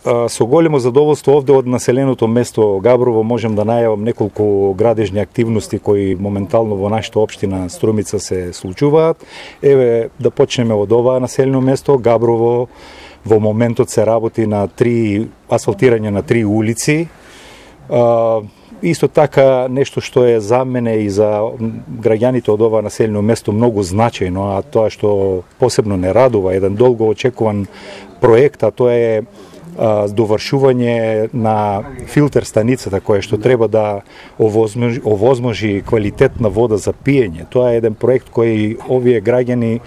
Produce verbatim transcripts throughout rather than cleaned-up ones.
Со големо задоволство овде од населеното место Габрово можам да најавам неколку градежни активности кои моментално во нашата општина Струмица се случуваат. Еве да почнеме од ова населено место Габрово. Во моментот се работи на три асфалтирање на три улици. А, исто така нешто што е за мене и за граѓаните од ова населено место многу значајно, а тоа што посебно не радува, еден долго очекуван проект, а тоа е а, довршување на филтер станицата која што треба да овозможи, овозможи квалитетна вода за пиење. Тоа е еден проект кој овие граѓани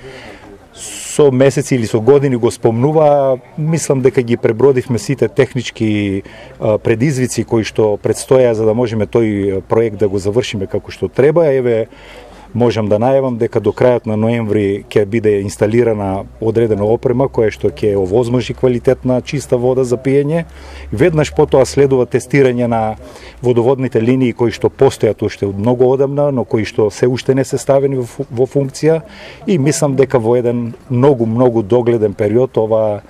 со месеци или со години го спомнува. Мислам дека ги пребродивме сите технички а, предизвици кои што предстоја за да можеме тој проект да го завршиме како што треба. Еве можам да најавам дека до крајот на ноември ќе биде инсталирана одредена опрема која што ќе овозможи квалитетна чиста вода за пиење. Веднаш потоа следува тестирање на водоводните линии кои што постојат уште од многу одамна, но кои што се уште не се ставени во, во функција, и мислам дека во еден многу многу догледен период ова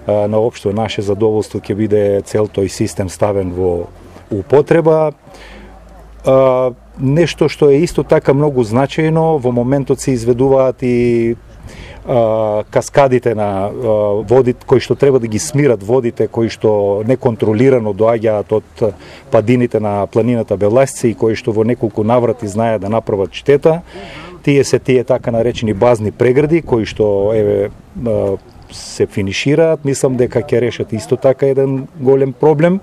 а, на општо наше задоволство ќе биде цел тој систем ставен во употреба. А, нешто што е исто така многу значајно, во моментот се изведуваат и а, каскадите на а, водите кои што треба да ги смират водите кои што неконтролирано доаѓаат од падините на планината Беласица и кои што во неколку наврати знаеат да направат штета. Тие се тие така наречени базни прегради кои што еве а, се финишираат. Мислам дека ќе решат исто така еден голем проблем.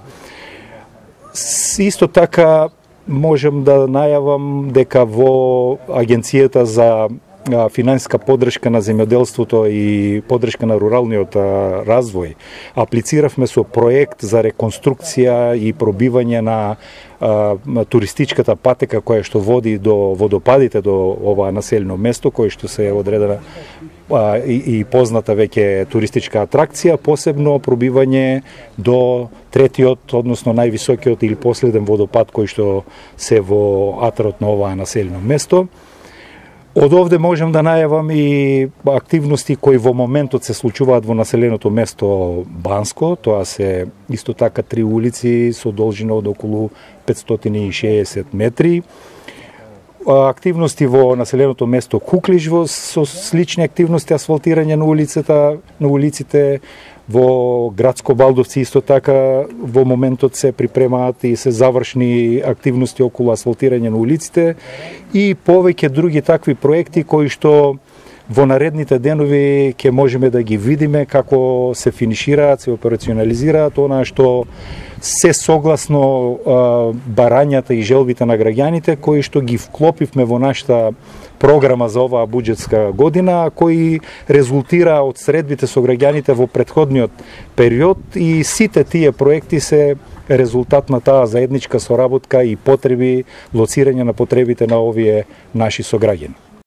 Исто така можам да најавам дека во Агенцијата за финансиска поддршка на земјоделството и поддршка на руралниот развој аплициравме со проект за реконструкција и пробивање на а, туристичката патека која што води до водопадите до ова населено место, кој што се одредена а, и, и позната веќе туристичка атракција, посебно пробивање до третиот, односно највисокиот или последен водопад кој што се во атарот на ова населено место. Од овде можам да најавам и активности кои во моментот се случуваат во населеното место Банско. Тоа се исто така три улици со должина од околу петстотини и шеесет метри. Активности во населеното место Куклиш со слични активности, асфалтирање на улицата, на улиците. Во градско Балдовци исто така во моментот се припремаат и се завршни активности околу асфалтирање на улиците и повеќе други такви проекти кои што во наредните денови ќе можеме да ги видиме како се финишираат, се операционализираат, она што се согласно а, барањата и желбите на граѓаните кои што ги вклопивме во нашата програма за оваа буџетска година, кои резултира од средбите со граѓаните во претходниот период, и сите тие проекти се резултат на таа заедничка соработка и потреби, лоцирање на потребите на овие наши сограѓани.